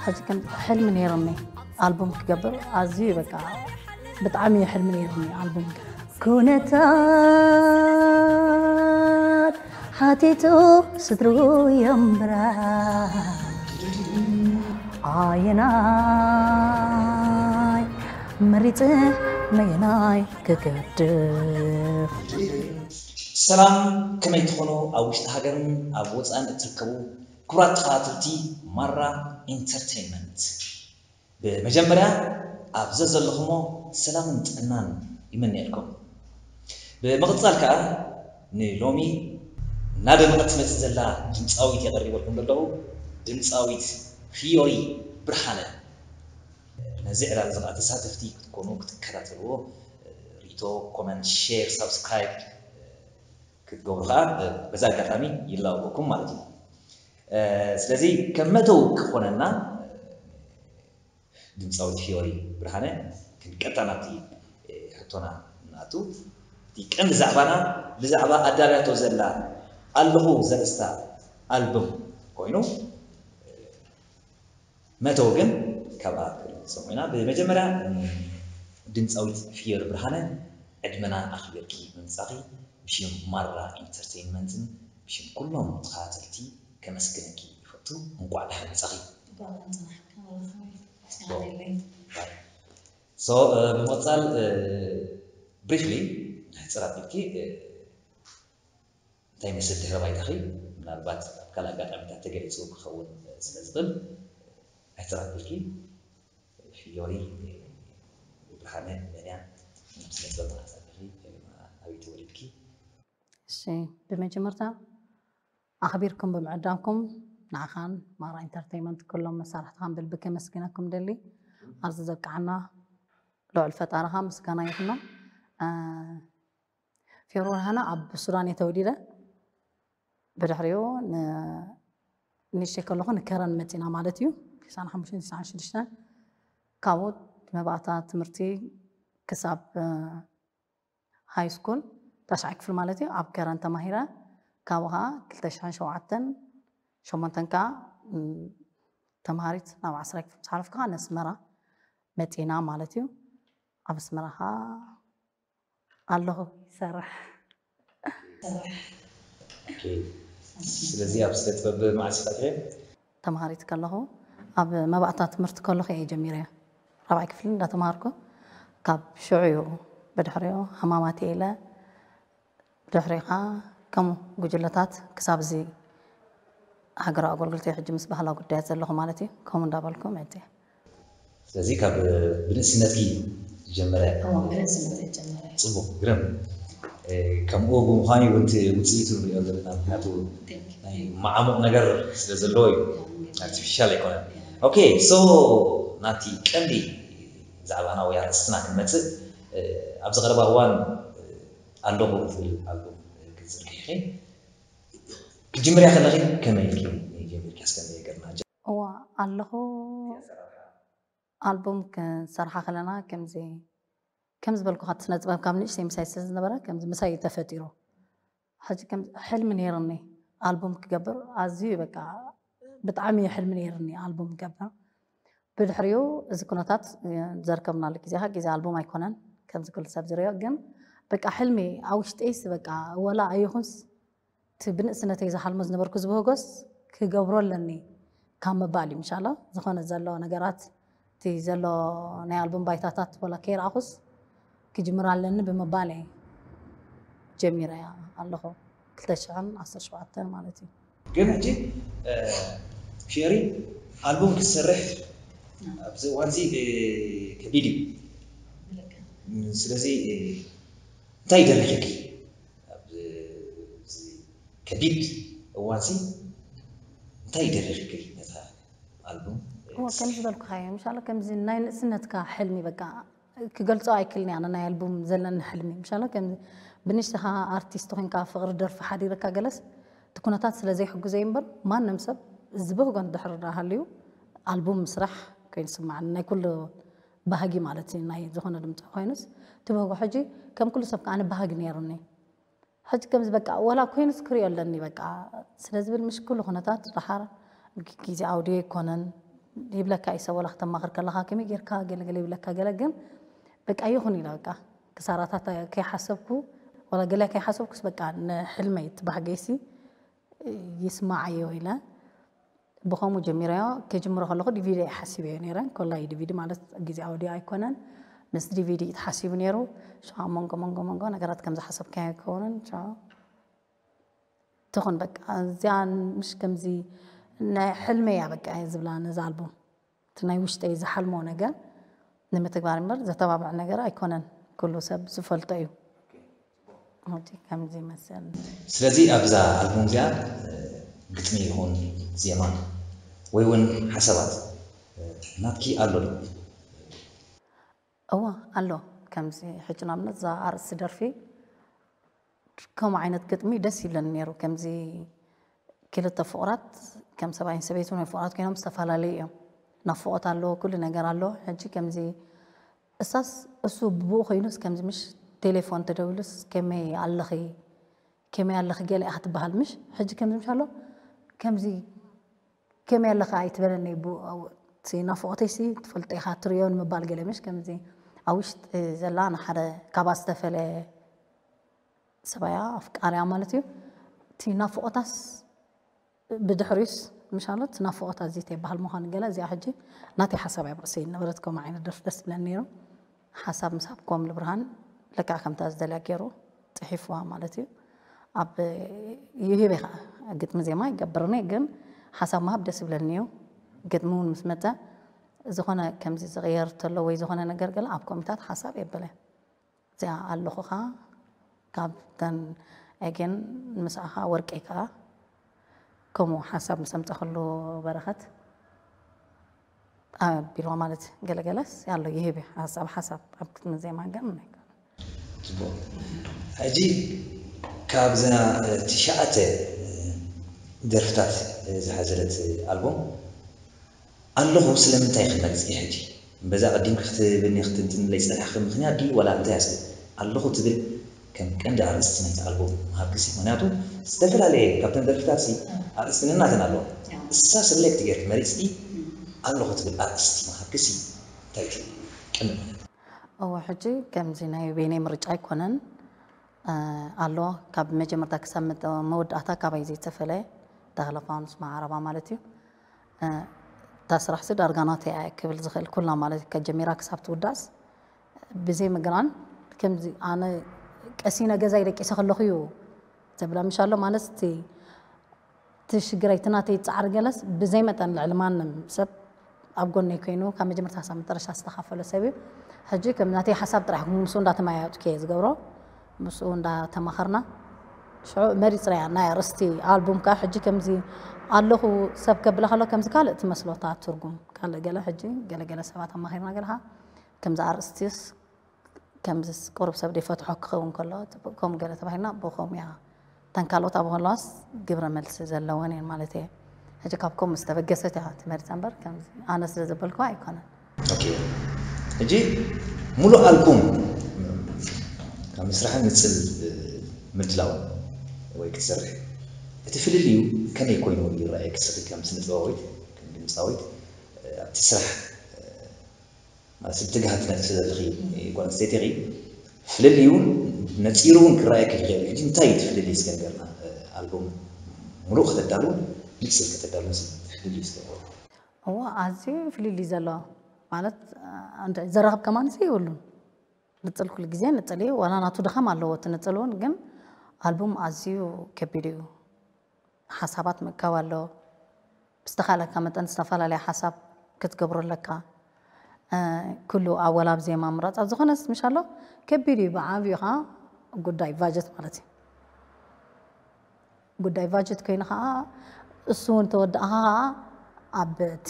ሕጂ ከም ሕልሚ ነይርኒ ኣልቡም ክገብር፣ ኣዝዩ በቃ ብጣዕሚ እዩ ሕልሚ ነይርኒ ኣልቡም ክገብር። ኩነታት ሓቲቱ ስድሩ የንብራ ኣየናይ መሪጽ ነየናይ ክገድፍ። ሰላም፣ ከመይ ትኾኑ? ኣብ ውሽጢ ሃገርን ኣብ ወፃእን እትርከቡ ክቡራት ተኸታተልቲ ማራ ኢንተርቴይንመንት፣ ብመጀመርያ ኣብ ዘዘለኹሞ ሰላምን ጥዕናን ይምነየልኩም። ብምቕፃል ከዓ ንሎሚ እናደመቐት ትመፅእ ዘላ ድምፃዊት የቐሪበልኩም ዘለኹ፣ ድምፃዊት ፍዮሪ ብርሃነ። ነዚ ዕላል እዚ ከዓ ተሳተፍቲ ክትኮኑ ክትከታተልዎ ርእቶ፣ ኮመንት፣ ሼር፣ ሳብስክራይብ ክትገብሩ ከዓ በዚ ኣጋጣሚ ይላወኩም ማለት እዩ። ስለዚ ከም መተው ክኾነና ድምፃዊት ፊዮሪ ብርሃነ ክንቀጥታ ናብቲ ሕቶና ንኣቱ። እቲ ቀንዲ ዛዕባና ብዛዕባ ኣዳልያቶ ዘላ ኣለኹ ዘርእስታ ኣልቡም ኮይኑ መተው ግን ካብኣ ክንሰምዖ ኢና። ብመጀመርያ ድምፃዊት ፍዮሪ ብርሃነ ዕድመና ኣኽቢርኪ ምምፃኺ ብሽም ማራ ኢንተርቴይንመንትን ብሽም ኩሎም ተኸታተልቲ ከመስግነኪ ይፈቱ። እንቋዕ ደሓን መፃኺ። ሶ ብምቕፃል ብሪፍሊ ሕፅር ኣቢልኪ እንታይ ይመስል ድሕረ ባይታኺ? ምናልባት ኣብ ካልእ ኣጋጣሚታት ተገሊፁ ክኸውን ስለ ዝኽእል ሕፅር ኣቢልኪ ፍዮሪ ብርሃነ መን እያ? ናብ ስነ ጥበብ ተዓዛቢኺ ኣበይ ተወሊድኪ? እሺ፣ ብመጀመርታ ኣኽቢርኩም ብምዕዳምኩም ንዓኻን ማራ ኢንተርቴይንመንት ኩሎም መሳርሕትኻን ብልቢ ከመስግነኩም ደሊ። ኣብዚ ዘብቅዓና ልዑል ፈጣሪኻ ምስጋና ይኹኖ። ፊዮሪ ብርሃነ ኣብ ሱዳን እየ ተወሊደ። ብድሕሪኡ ንእሽተይ ከለኹ ንከረን መፂና ማለት እዩ። ትስዓን ሓሙሽተን ትስዓን ሽዱሽተን ካብኡ መባእታ ትምህርቲ ክሳብ ሃይ ስኩል ታሽዓይ ክፍሊ ማለት እዩ ኣብ ከረን ተማሂረ። ካብኡ ከዓ ክልተ ሽሕን ሸውዓተን ሸሞንተን ከዓ ተምሃሪት ናብ ዓስራይ ክፍሊ ምስ ሓለፍኩ ከዓ ነስመራ መፂና ማለት እዩ። ኣብ ኣስመራ ከዓ ኣለኹ ይሰርሕ። ስለዚ ኣብ ስነ ጥበብ መዓስ ኢኻ ኣቲኻ? ተምሃሪት ከለኹ ኣብ መባእታ ትምህርቲ ከለኹ እየ ጀሚረ። ራብዓይ ክፍሊ እንዳተምሃርኩ ካብ ሽዑ እዩ። ብድሕሪኡ ሃማማት እየ ኢለ ብድሕሪኡ ከዓ ከምኡ ጉጅለታት ክሳብ እዚ ሃገራዊ ኣገልግሎት ሕጂ ምስ ባህላዊ ጉዳያት ዘለኹ ማለት እዩ። ከምኡ እንዳበልኩ መፅየ። ስለዚ ካብ ብንእስነትኪ ዝጀመረ እዎ ብንእስነት የጀመረ ፅቡቅ ግርም ከምኡ ብምዃኑ እውን እቲ ውፅኢቱ ንሪኦ ዘለና ምክንያቱ ናይ መዓሙቕ ነገር ስለ ዘለዎ እዩ ኣርቲፊሻል ኣይኮነን ኦኬ ሶ ናቲ ቀንዲ ዛዕባና ወይ ኣርእስትና ክንመፅእ ኣብዚ ቀረባ እዋን ኣለኹ ትብል ኣልቡም ክትዝርግሒ ክትጅምርያ ከለኺ ከመይ ኢልኪ ጀሚርኪ እስከ ንገርና እዋ ኣለኹ ኣልቡም ክንሰርሓ ከለና ከምዚ ከም ዝበልኩኻ እቲ ስነ ጥበብ ካብ ንእሽተይ ምሳይ ስለ ዝነበረ ከምዚ ምሳይ እዩ ተፈጢሩ ሕጂ ከም ሕልሚ ነይርኒ ኣልቡም ክገብር ኣዝዩ በቃ ብጣዕሚ እዩ ሕልሚ ነይርኒ ኣልቡም ክገብር ብድሕሪኡ እዚ ኩነታት ዘርከብናሉ ግዜኻ ግዜ ኣልቡም ኣይኮነን ከምዚ ኩሉ ሰብ ዝሪኦ ግን በቃ ሕልሚ ኣብ ውሽጠይስ በቃ ወላ ኣይኹንስ እቲ ብንእስነተይ ዝሓልሞ ዝነበርኩ ዝበህጎስ ክገብሮ ኣለኒ ካብ ምባል እዩ ምሻሎ ዝኾነ ዘሎ ነገራት እቲ ዘሎ ናይ ኣልቡም ባይታታት ወላ ከይረኣኹስ ክጅምር ኣለኒ ብምባል እየ ጀሚረ ኣለኹ ክልተ ሽሕን ዓሰርተ ሸውዓተን ማለት እዩ ግን ሕጂ ፊዮሪ ኣልቡም ክትሰርሕ ኣብዚ እዋንዚ ከቢድ እዩ ስለዚ እንታይ ደሪኽኪ ኣብዚ ከቢድ እዋንሲ እንታይ ይደርፍ ይብል ነታ ኣልቡም እዎ ከም ዝበልኩኻ እየ ምሻሎ ከምዚ ናይ ንእስነትካ ሕልሚ በቃ ክገልፆ ኣይክልን እያ ናይ ኣልቡም ዘለኒ ሕልሚ ምሻሎ ከም ብንሽትኻ ኣርቲስት ኮይንካ ፍቅሪ ደርፊ ሓዲረካ ገለስ እቲ ኩነታት ስለ ዘይሕጉዘ እምበር ማንም ሰብ ዝበህጎ እንድሕር ሃልዩ ኣልቡም ምስራሕ ኮይኑ ስማዓኒ ናይ ኩሉ ባህጊ ማለት እዩ ናይ ዝኾነ ድምፃዊ ኮይኑስ ትበህጎ ሕጂ ከም ኩሉ ሰብ ከዓ ኣነ ባህጊ ነይሩኒ ሕጂ ከምዚ በቃ ወላ ኮይኑስ ክሪኦ ኣለኒ በቃ ስለ ዝብል ምሽ ኩሉ ኩነታት ድሓር ግዜ ኣውድዮ ኣይኮነን ይብለካ እዩ ሰብ፣ ወላ ክተማኽር ከለኻ ከመይ ጌርካ ገለ ገለ ይብለካ፣ ገለ ግን በቃ ይኹን ኢለ በቃ ክሳራታት ከይሓሰብኩ፣ ወላ ገለ ከይሓሰብኩስ በቃ ንሕልመይ ትባህገይሲ ይስማዓዮ ኢለ ብኸምኡ ጀሚረዮ። ከጅምሮ ከለኹ ዲቪዲ እየ ሓሲበዮ ነይረ። ኮላይ ዲቪዲ ማለት ግዜ ኣውዲዮ ኣይኮነን፣ ምስ ዲቪዲ እዩ ተሓሲቡ ነይሩ። ሻ መንጎ መንጎ መንጎ ነገራት ከም ዝሓሰብካዮ ኣይከውንን። ሻ ትኹን በቃ እዚኣ ምሽ ከምዚ ናይ ሕልመይ እያ በቃ እየ ዝብላ ነዛ ኣልቡም። እቲ ናይ ውሽጠይ ዝሓልሞ ነገር ንምትግባር እምበር ዘተባብዕ ነገር ኣይኮነን። ኩሉ ሰብ ዝፈልጦ እዩ። ከምዚ ይመስል። ስለዚ ኣብዛ ኣልቡም እዚኣ ግጥሚ ይኹን ዜማ ወይ እውን ሓሳባት ናትኪ ኣሎ ዶ? እዋ ኣሎ። ከምዚ ሕጂ ንኣብነት እዛ ኣርእስቲ ደርፊ ከምኡ ዓይነት ግጥሚ ደስ ይብለኒ ነይሩ። ከምዚ ክልተ ፍቑራት ከም ሰብኣይን ሰበይትን ወይ ፍቑራት ኮይኖም ዝተፈላለዩ እዮም። ናፍቖት ኣሎ፣ ኩሉ ነገር ኣሎ። ሕጂ ከምዚ እሳስ እሱ ብኡ ኮይኑስ ከምዚ ምሽ ቴሌፎን ተደዊሉስ ከመይ ኣለኺ ከመይ ኣለኺ ገለ እያ ክትበሃል ምሽ ሕጂ ከምዚ ምሽ ኣሎ ከምዚ ከመይ ኣለኻ ኣይትበለኒ ቡ- እቲ ናፍቖተይሲ ትፈልጦ ኢኻ ትሪኦ ንምባል ገለ ምሽ ከምዚ ኣብ ውሽጢ ዘላ ንሓደ ካባ ዝተፈለ ሰባያ ኣፍቃርያ ማለት እዩ። እቲ ናፍቖታስ ብድሕሪስ ምሻሎት ናፍቖት ኣዚተ ይበሃል ምዃኑ ገለ እዚኣ ሕጂ ናተይ ሓሳብ ኣብ ርእሰይ ነበረት። ከምኡ ዓይነት ደርፊ ደስ ይብለኒ ነይሩ። ሓሳብ ምስ ሃብክዎም ልብርሃን ልክዕ ከምታ ዝደልያ ገይሩ ፅሒፍዋ ማለት እዩ። ኣብ ይህበ ከዓ ግጥሚ ዜማ ይገብርኒ ግን ሓሳብ ምሃብ ደስ ይብለኒ እዩ። ግጥሚ እውን ምስ መፀ ዝኾነ ከምዚ ዝቕየር ተሎ ወይ ዝኾነ ነገር ገለ ኣብ ኮሚታት ሓሳብ የበለ እዚኣ ኣለኹ ከዓ ካብተን ኤጌን ምስኣኻ ወርቀይ ከዓ ከምኡ ሓሳብ ምስ ኣምፀኸሉ በረኸት ኣቢልዋ ማለት ገለገለስ ኣሎ ይህብ ሓሳብ ሓሳብ ኣብ ክትምን ዜማ ገም ፅቡቅ ሕጂ ካብዛ ትሽዓተ ደርፍታት ዝሓዘለት ኣልቦም ኣለኹ ስለምንታይ ክመርፅ እየ ሕጂ በዛ ቀዲም ክትብኒ ክትንትንለይ ፀናሕኪ ምክንያት ድዩ ዋላ እንታይ ኣስብ ኣለኹ ትብል ከም ቀንዲ ኣርእስቲ ናይቲ ኣልቦም ምሃብ ግሲ ምክንያቱ ዝተፈላለየ ካብተን ደርፍታት ሲ ኣርእስቲ ነናተን ኣለዋ እሳ ሰሌክት ጌርኪ መሪፅኪ ኣለኹ ትብል ኣርእስቲ ምሃብ ግሲ እንታይ እዩ ቀንዲ ምክንያት እወ ሕጂ ከምዚ ናይ በይነይ ምርጫ ኣይኮነን ኣሎ ካብ መጀመርታ ክሳብ መወዳእታ ካባይ ዘይተፈለየ ተኽለ ፋኑስ መዓረባ ማለት እዩ እታ ስራሕሲ ዳርጋ ናተይ እያ ክብል ዝኽእል ኩላ ማለት እዩ ከጀሚራ ክሳብ ትውዳእስ ብዘይ ምግናን ከምዚ ኣነ ቀሲነ ገዛይ ደቂሰ ከለኹ እዩ ዘብላ ምሽ ኣሎ ማለት እቲ እቲ ሽግረይ እቲ ናተይ ፃዕሪ ገለስ ብዘይ መጠን ልዕሊ ማንም ሰብ ኣብ ጎነይ ኮይኑ ካብ መጀመርታ ክሳብ መጨረሻ ዝተኻፈሎ ሰብ እዩ ሕጂ ከም ናተይ ሓሳብ ጥራሕ ምስኡ እንዳተመያየጥኩ እየ ዝገብሮ ምስኡ እንዳተማኸርና ሽዑ መሪፅናያ ናይ ኣርእስቲ ኣልቡም ከዓ ሕጂ ከምዚ ኣለኹ ሰብ ከብላ ከሎ ከምዚ ካልእ ትመስሎታ ትርጉም ካልእ ገለ ሕጂ ገለገለ ሰባት ኣማኺርና ገለካ ከምዚ ኣርእስቲስ ከምዚ ቁሩብ ሰብ ደይፈትሖ ክኸውን ከሎ ከምኡ ገለ ተባሂልና ብከምኡ እያ እተን ካልኦት ኣብ ከለዋስ ግብረ መልሲ ዘለወን እየን ማለት እየ ሕጂ ካብ ከምኡ ዝተበገሰት እያ ትመርፃ እምበር ከምዚ ኣነ ስለ ዘበልኩዋ ኣይኮነን ሕጂ ሙሉእ ኣልቡም ካብ ምስራሕን ንፅል ምድላው ወይ ክትሰርሕ እቲ ፍልልዩ ከመይ ኮይኑ ይረኣየኪ ንስኺ ከም ስነ ጥበባዊት ከም ድምፃዊት ኣብቲ ስራሕ ማለት ትግሃት ትነጥፊ ዘለኺ ጓል ኣንስተይቲ ኢኺ ፍልልዩ እውን ነፂሩ እውን ክረኣየኪ ይኽእል እዩ ሕጂ እንታይ እዩ እቲ ፍልልይ እስከ ንገርና ኣልቡም ሙሉእ ከተዳልውን ንፅል ከተዳልውን ፍልልዩ እስከ ንገርና እዎ ኣዝዩ ፍልልይ ዘሎ ማለት ዘራኽብ ከማንስ የብሉን ንፅል ኩሉ ግዜ ንፅል እዩ ዋላ ናቱ ድኻም ኣለዎ እቲ ንፅል እውን ግን ኣልቡም ኣዝዩ ከቢድ እዩ ሓሳባት ምእካብ ኣሎ ብዝተኻለካ መጠን ዝተፈላለየ ሓሳብ ክትገብሮ ኣለካ ኩሉ ኣወላብ ዜማ ምራፅ ኣብ ዝኾነስ ምሽ ኣሎ ከቢድ እዩ ብዓብዩ ከዓ ጉዳይ ባጀት ማለት እዩ ጉዳይ ባጀት ኮይኑ ከዓ እሱ እውን ተወዳእካ ከዓ ኣብ እቲ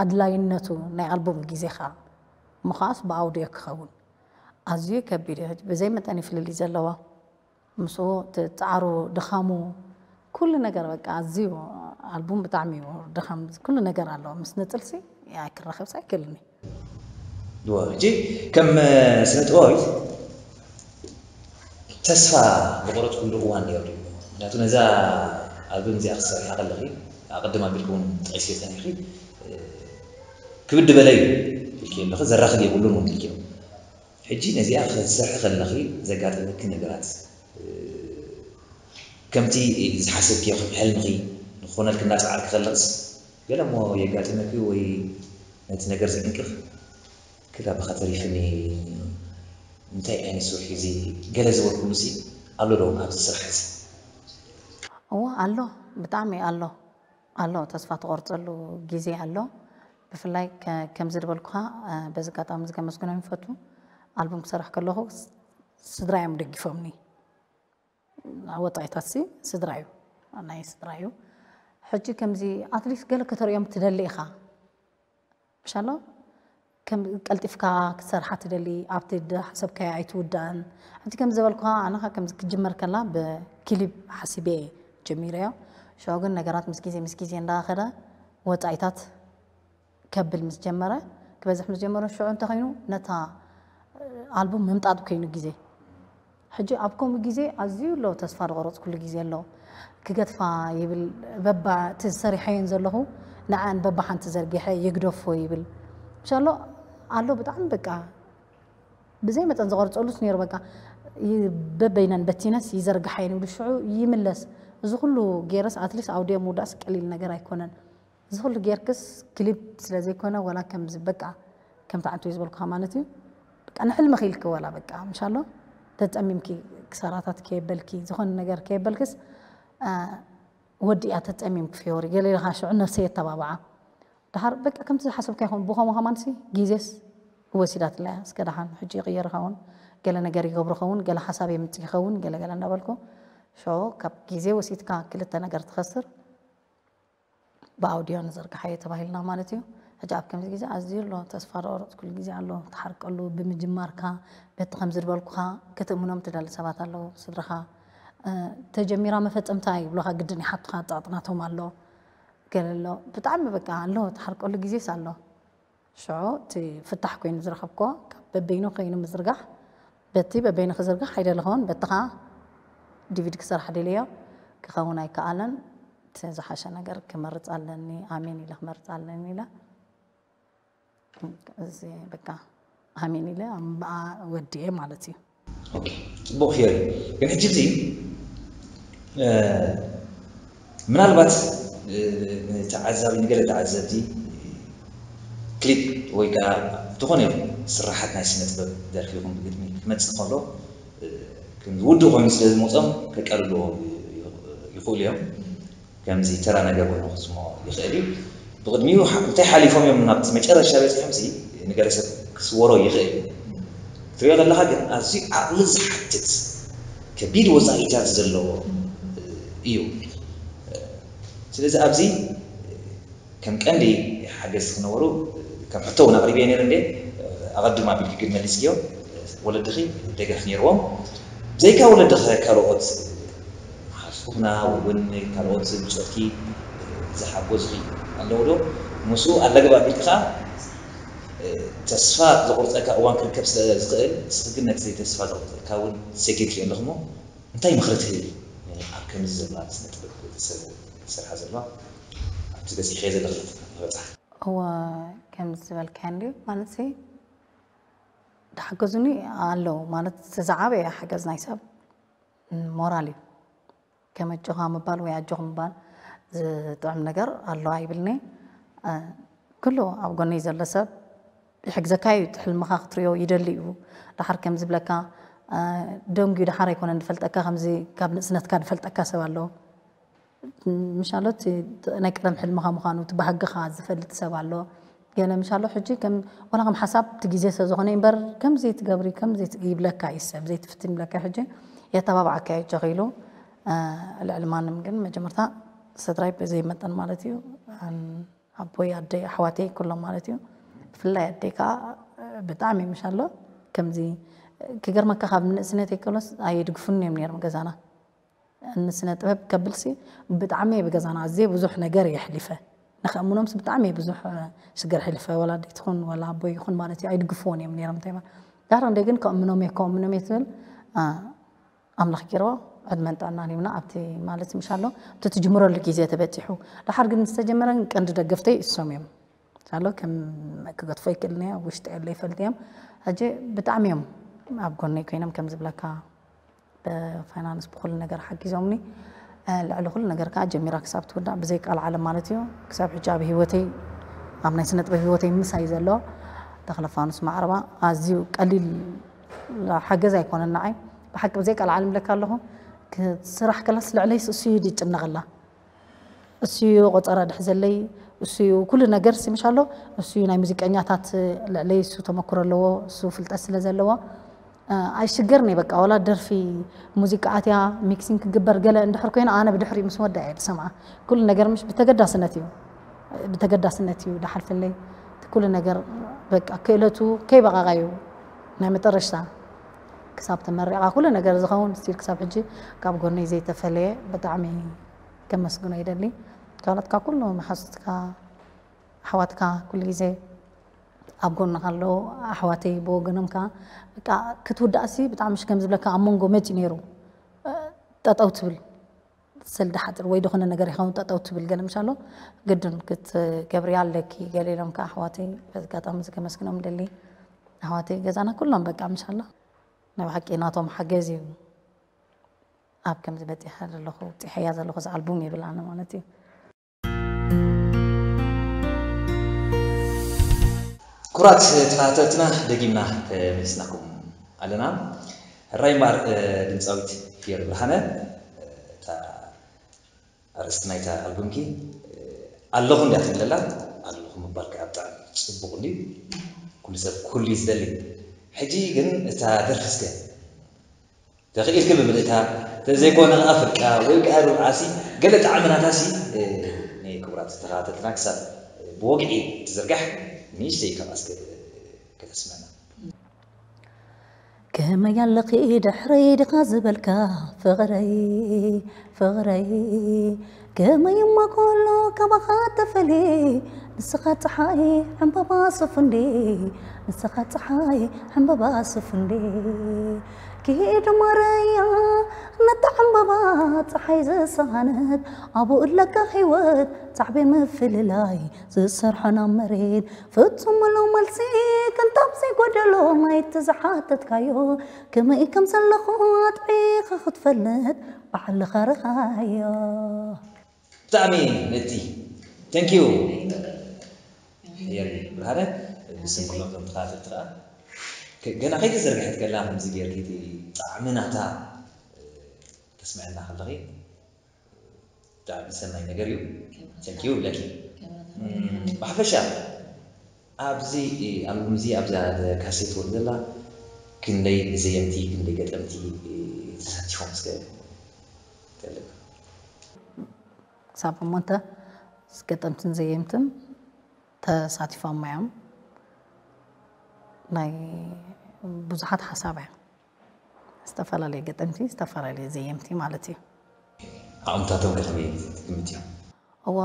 ኣድላይነቱ ናይ ኣልቡም ግዜካ ምኻስ ብኣውድዮ ክኸውን ኣዝዩ ከቢድ እዩ ብዘይ መጠን ይፍልልይ ዘለዋ ምስኡ እቲ ፃዕሩ ድኻሙ ኩሉ ነገር በቃ ኣዝዩ ኣልቡም ብጣዕሚ እዩ ድኻም ኩሉ ነገር ኣለዎ ምስ ንፅልሲ ክራኸብስ ኣይክእልን እዩ ድዋ ሕጂ ከም ስነ ጥበባዊት ተስፋ ዝቆረፅኩሉ እዋን ነይሩ ድዩ ምክንያቱ ነዛ ኣልበም እዚኣ ክትሰርሓ ከለኺ ኣቐድም ኣቢልኪ እውን ጠቂስዮ ፀኒሕኪ ክብድ በለ እዩ ኢልኪ ኣለኺ፣ ዘራኽብ የብሉን እውን ኢልኪ። ሕጂ ነዚኣ ክትሰርሒ ከለኺ ዘጋጠመኪ ነገራት፣ እ፣ ከምቲ ዝሓሰብክዮ ከም ሕልምኺ ንክኾነልኪ እናጸዓርኪ ከለኽስ፣ ገለ እሞ የጋጥመኪ ወይ ነቲ ነገር ዘዕንቅፍ፣ ክላ ብኻ ተሪፍኒ፣ እንታይ ዓይነት ስራሕ እዩ እዚ? ገለ ዝበልኩሉሲ ኣሎ ዶ ኣብዚ ስራሕ እዚ? እዎ ኣሎ፣ ብጣዕሚ ኣሎ። ኣሎ፣ ተስፋ ትቆርጸሉ ግዜ ኣሎ። ብፍላይ ከ-፣ ከምዚ ዝበልኩኻ፣ እ፣ በዚ ኣጋጣሚ እዚ ከመስግኖም ይፈቱ። ኣልቡም ክሰርሕ ከለኹ ስ-፣ ስድራ እዮም ደጊፎምኒ። ወጣይታትሲ ስድራ እዩ፣ ናይ ስድራ እዩ። ሕጂ ከምዚ ኣትሊስት ገለ ከተርእዮም ትደሊ ኢኻ። ምሻሎ ከም ቀልጢፍካ ክትሰርሓ ትደሊ፣ ኣብቲ ዝሓሰብካዮ ኣይትውዳእን። ሕጂ ከም ዝበልኩኻ ኣነ ኸ ከምዚ ክጅመር ከላ ብክሊፕ ሓሲበ እየ ጀሚረዮ። ሽዑ ግን ነገራት ምስ ግዜ ምስ ግዜ እንዳኸደ ወጻኢታት ከብል ምስ ጀመረ፣ ክበዝሕ ምስ ጀመረ ሽዑ እንተ ኸይኑ ነታ ኣልቡም ምምጣጥ ኮይኑ ግዜ። ሕጂ ኣብ ከምኡ ግዜ ኣዝዩ ኣሎ ተስፋ ዝቆረጽኩሉ ግዜ ኣሎ። ክገድፋ ይብል፣ በባ እቲ ሰሪሐየን ዘለኹ ንዓን በባ ሓንቲ ዘርጊሐ ይግደፎ ይብል። ምሻሎ ኣሎ ብጣዕሚ በቃ ብዘይ መጠን ዝቆርጸሉስ ነይሩ። በቃ ይ-፣ በበይነን በቲነስ ይዘርግሓየን ይብሉ፣ ሽዑ ይምለስ። እዚ ኩሉ ገይረስ ኣትሊስት ኣውድዮ ምውዳእስ ቀሊል ነገር ኣይኮነን። እዚ ኩሉ ጌርክስ ክሊፕ ስለ ዘይኮነ፣ ወላ ከምዚ በቃ ከምቲ ዓንተይ ዝበልኩኻ ማለት እዩ። በቃ ንሕልምኺ ኢልኪ ወላ በቃ ምሻሎ ተጸሚምኪ ክሳራታት ከየበልኪ፣ ዝኾነ ነገር ከየበልክስ፣ አ፣ ወዲእያ ተጸሚምኪ ፊዮሪ። ገለ ኢልኻ ሽዑ ነብሰይ የተባብዓ። ደሓር በቃ ከምቲ ዝሓሰብካ ይኹን፣ ብኸምኡ ከማንሲ ግዜስ ወሲዳትላ እያ። እስከ ደሓን ሕጂ ይቕየር ይኸውን፣ ገለ ነገር ይገብሩ ይኸውን፣ ገለ ሓሳብ የምጽእ ይኸውን፣ ገለ ገለ እንዳበልኩ፣ ሽዑ ካብ ግዜ ወሲድካ ክልተ ነገር ትኸስር። ብኣውድዮ ንዘርግሓዮ ተባሂልና ማለት እዩ። ሕጂ ኣብ ከምዚ ግዜ ኣዝዩ ኣሎ ተስፋ ዝቆረፅኩሉ ግዜ ኣሎ። ትሓርቀሉ ብምጅማርካ በቲ ከምዚ ዝበልኩኻ ክትእምኖም ትደሊ ሰባት ኣለዉ። ስድራኻ፣ እ፣ ተጀሚራ መፈጸምታ ይብሉኻ፣ ግድን ይሓቱኻ፣ ጸቕጢ ናቶም ኣሎ። ገለ ኣሎ። ብጣዕሚ በቃ ኣሎ፣ ትሓርቀሉ ግዜስ ኣሎ። ሽዑ እቲ ፍታሕ ኮይኑ ዝረኸብክዎ ካብ በበይኑ ኮይኑ ምዝርጋሕ፣ በቲ በበይኑ ክዝርጋሕ ኣይደለኹን፣ በቲ ኸዓ ዲቪዲ ክሰርሕ ደልዮ ክኸውን ኣይከኣለን። እቲ ዝሓሸ ነገር ክመርጽ ኣለኒ፣ ኣሜን ኢለ ክመርጽ ኣለኒ ኢለ እዚ በቃ ኣሜን ኢለ ኣምብኣ ወዲኤ ማለት እዩ። ኦኬ፣ ጽቡቕ ፊዮሪ። ግን ሕጂ እዚ፣ እ፣ ምናልባት፣ እ፣ ንተዓዛቢ፣ ንገለ ተዓዘብቲ ክሊፕ ወይ ከኣ ዝኾነ ይኹን ስርሓት ናይ ስነ ጥበብ ደርፊ ይኹን ብግጥሚ ክመጽእ ከሎ፣ እ፣ ከም ውዱእ ኮይኑ ስለ ዝመጾም ከቃልልዎ ይኽእሉ እዮም። ከምዚ ተራ ነገር ኮይኑ ክስምዖ ይኽእል እዩ። ብቕድሚኡ ሓ-፣ እንታይ ሓሊፎም እዮም ናብቲ መጨረሻ በጺሖም ሲ ንገለ ሰብ ክስወሮ ይኽእል እዩ። ክትሪኦ ከለኻ ግን ኣዝዩ ዓቕሊ ዝሓትት ከቢድ ወጻኢታት ዘለዎ እዩ። ስለዚ ኣብዚ ከም ቀንዲ ሓገዝቲ ክነበሩ ከም ሕቶ እውን ኣቕሪበ ነይረ እንዴ፣ ኣቐድም ኣቢልኪ ግን መሊስክዮ። ወለድኺ ደገፍ ነይርዎም። ብዘይካ ወለድኺ ካልኦት ሓፍቲ ኩና ወይ እውን ካልኦት ብጾትኪ ዝሓገዙኺ ኣለዉ ዶ? ምስኡ ኣለግባብ ኢልኪ ከኣ ተስፋ ዘቑርጸካ እዋን ክርከብ ስለ ዝኽእል፣ ንስኺ ግን ነቲ ተስፋ ዘቑርጸካ እውን ሰጊርክዮ ኣለኺ እሞ እንታይ ምኽሪ ትህቢ ኣብ ከምዚ ዘለዋ ስነ ጥበብ ሰብ ዝሰርሓ ዘለዋ ኣብቲ በጺሕክዮ ዘለኺ ክበጽሓ? እወ፣ ከምዚ ዝበልካዮ እንድዩ ማለት ሲ፣ ዝሓገዙኒ ኣለዉ ማለት፣ እቲ ዝዓበየ ሓገዝ ናይ ሰብ ሞራል እዩ። ከም ኣጆኻ ምባል ወይ ኣጆኹም ምባል ዝጥዕም ነገር ኣሎ ኣይብልኒ። እ፣ ኩሉ ኣብ ጎነይ ዘሎ ሰብ ይሕግዘካ እዩ። እቲ ሕልምኻ ክትሪኦ ይደሊ እዩ። ደሓር ከም ዝብለካ፣ እ፣ ደንጉዩ ደሓር ኣይኮነን ዝፈልጠካ፣ ከምዚ ካብ ንእስነትካ ዝፈልጠካ ሰብ ኣሎ። ምሻሎ እቲ ናይ ቀደም ሕልምኻ ምዃኑ፣ እቲ ባህግኻ ዝፈልጥ ሰብ ኣሎ። ገለ ምሻሎ ሕጂ ከም፣ ዋላ ከም ሓሳብ እቲ ግዜ ስለ ዝኾነ እምበር፣ ከምዚ ትገብሪ፣ ከምዚ ት-፣ ይብለካ እዩ ሰብ፣ ዘይትፍትን ይብለካ። ሕጂ የተባብዓካ እዩ ቸኺሉ። እ፣ ልዕሊ ማንም ግን መጀመርታ ስድራይ ብዘይ መጠን ማለት እዩ። ኣን-፣ ኣቦይ፣ ኣደይ፣ ኣሕዋተይ ኩሎም ማለት እዩ። ብፍላይ ኣደይ ከዓ ብጣዕሚ ምሻሎ ከምዚ ክገርመካ ካብ ንእስነተይ ከሎስ ኣየድግፉኒ እዮም ነይሮም ገዛና። ንስነ ጥበብ ከብልሲ ብጣዕሚ እየ ብገዛና ኣዝየ ብዙሕ ነገር እየ ኣሕሊፈ። ንኸእምኖምስ ብጣዕሚ እየ ብዙሕ ሽግር ኣሕሊፈ። ወላ ኣደይ ትኹን ወላ ኣቦይ ይኹን ማለት እዩ ኣይድግፍዎን እዮም ነይሮም። እንታይ ማለት ዳሕሪ ክንደይ ግን ከእምኖም እየ፣ ከእምኖም እየ ትብል፣ አ፣ ኣምላኽ ገይርዎ ዕድመን ጥዕናን ሂብና ኣብቲ ማለት ምሻሎ ኣብቲ ትጅምረሉ ግዜ ተበጺሑ። ደሓር ግን ዝተጀመረ ግን ቀንዲ ደገፍተይ እሶም እዮም። ኣሎ ከም ክገድፎ ይክእልኒ ኣብ ውሽጢ ያለ ይፈልጥ እዮም። ሕጂ ብጣዕሚ እዮም ኣብ ጎነይ ኮይኖም ከም ዝብለካ ብፋይናንስ ብኩሉ ነገር ሓጊዞምኒ። ልዕሊ ኩሉ ነገር ከዓ ጀሚራ ክሳብ ትውዳእ ብዘይ ቃል ዓለም ማለት እዩ። ክሳብ ሕጂ ኣብ ህይወተይ ኣብ ናይ ስነ ጥበብ ህይወተይ ምሳይ ዘሎ ተኽለፋኑስ ማዕረባ ኣዝዩ ቀሊል ሓገዝ ኣይኮነን ንዓይ። ብሓቂ ብዘይ ቃል ዓለም ለካ ኣለኹ። ስራሕ ከላስ ልዕለይ እሱ እዩ ይጭነቐላ። እሱ እዩ ቆፀራ ድሕዘለይ። እሱ እዩ ኩሉ ነገር ሲምሽ ኣሎ። እሱ እዩ ናይ ሙዚቀኛታት ልዕለይ እሱ ተመክሮ ኣለዎ። እሱ ፍልጠት ስለ ዘለዎ ኣይሽገርኒ። በቃ ዋላ ደርፊ ሙዚቃ ኣትያ ሚክሲንግ ክግበር ገለ እንድሕር ኮይነ ኣነ ብድሕሪ ምስ ወዳ እየ ዝሰምዓ። ኩሉ ነገር ምሽ ብተገዳስነት እዩ ብተገዳስነት እዩ ዝሓልፈለይ። ኩሉ ነገር በቃ ክእለቱ ከይበቃቃ እዩ ናይ መጠረሽታ ክሳብ ተመሪቓ ኩሉ ነገር ዝኸውን ስቲል ክሳብ ሕጂ ካብ ጎነይ ዘይተፈለየ ብጣዕሚ ከመስግኖ ይደሊ። ካልኦትካ ኩሉ መሓዙትካ ኣሕዋትካ ኩሉ ግዜ ኣብ ጎንኻ ኣለዉ። ኣሕዋተይ ብወገኖም ከዓ በቃ ክትውዳእሲ ብጣዕሚ ሽከም ዝብለካ ኣብ መንጎ መፂ ነይሩ ጠጠው ትብል ሰልዲ ሓፂር ወይ ዝኾነ ነገር ይኸውን ጠጠው ትብል ገለ ምሻሎ ግድን ክትገብሪ ኣለኪ ገለ ኢሎም ከዓ ኣሕዋተይ በዚ ኣጋጣሚ እዚ ከመስግኖም ደሊ ኣሕዋተይ ገዛና ኩሎም በቃ ምሻሎ ናይ ብሓቂ ናቶም ሓገዝ እዩ ኣብ ከምዚ በፂሐ ዘለኹ ፂሐያ ዘለኹ እዚ ኣልቡም ይብል ኣነ ማለት እዩ። ክቡራት ተኸታተልትና ደጊምና ተመሊስናኩም ኣለና። ሕራይ እምበኣር ድምፃዊት ፍዮሪ ብርሃነ እታ ኣርእስቲ ናይታ ኣልቡምኪ ኣለኹ እንድያ ትብለላ ኣለኹ ምባል ከዓ ብጣዕሚ ፅቡቕ እንድዩ። ኩሉ ሰብ ኩሉ እዩ ዝደሊ። ሕጂ ግን እታ ደርፊ እስከ ተኽኢልኪ ብምልእታ ተዘይኮነ ከዓ ፍርቃ ወይ ከዓ ርብዓሲ ገለ ጣዕሚ ናታሲ ንክቡራት ተኸታተልትና ክሳብ ብወግዒ ትዝርጋሕ ንእሽተይ ካብ ኣስገ ከተስመና ከመይ ኣለኺ ድሕረይ ድኻ ዝበልካ ፍቕረይ ፍቕረይ ከመይ እሞ ከሎ ካባኻ ተፈልየ ንስኻ ፀሓይ ዕምበባ ሱፍ እንዴ ንስኻ ፀሓይ ዕምበባ ሱፍ እንዴ ክሄድ ማረያ ነታ ዕምበባ ፀሓይ ዝሰሃነት ኣብኡ ኣለካ ህይወት ፃዕቤ ምፍልላይ ዝሰርሖ ናብ መሬት ፍጹም ምሉእ መልሲ ቅንጣብ ዘይጎደሎ ናይቲ ዝሓተትካዮ ከመይ ከም ዘለኹ ኣጥዒኻ ክትፈልጥ ባዕልኻ ርኣዮ። ብጣዕሚ ምእንቲ thank you የሪ ብርሃነ ብስም ኩሎም ቶም ተኸታተልቲ ከዓ ገና ከይተዘርግሐት ከላ ከምዚ ጌርኪ እቲ ጣዕሚ ናታ ተስምዐና ከለኺ ብጣዕሚ ሰናይ ነገር እዩ። Thank you ብለኪ። ብሓፈሻ ኣብዚ ኣልቡም እዚ ኣብዛ ካሴት ወርድ ዘላ ክንደይ ዘየምቲ ክንደይ ገጠምቲ ተሳቲፎም እስከ ፈልጥ። ክሳብ እሞ እንተ ገጠምትን ዘየምትን ተሳቲፎም እዮም። ናይ ብዙሓት ሓሳብ እያ። ዝተፈላለየ ገጠምቲ ዝተፈላለየ ዘየምቲ ማለት እዩ። ዓቕምታቶም ከ ከመይ ትግምትዮ? እወ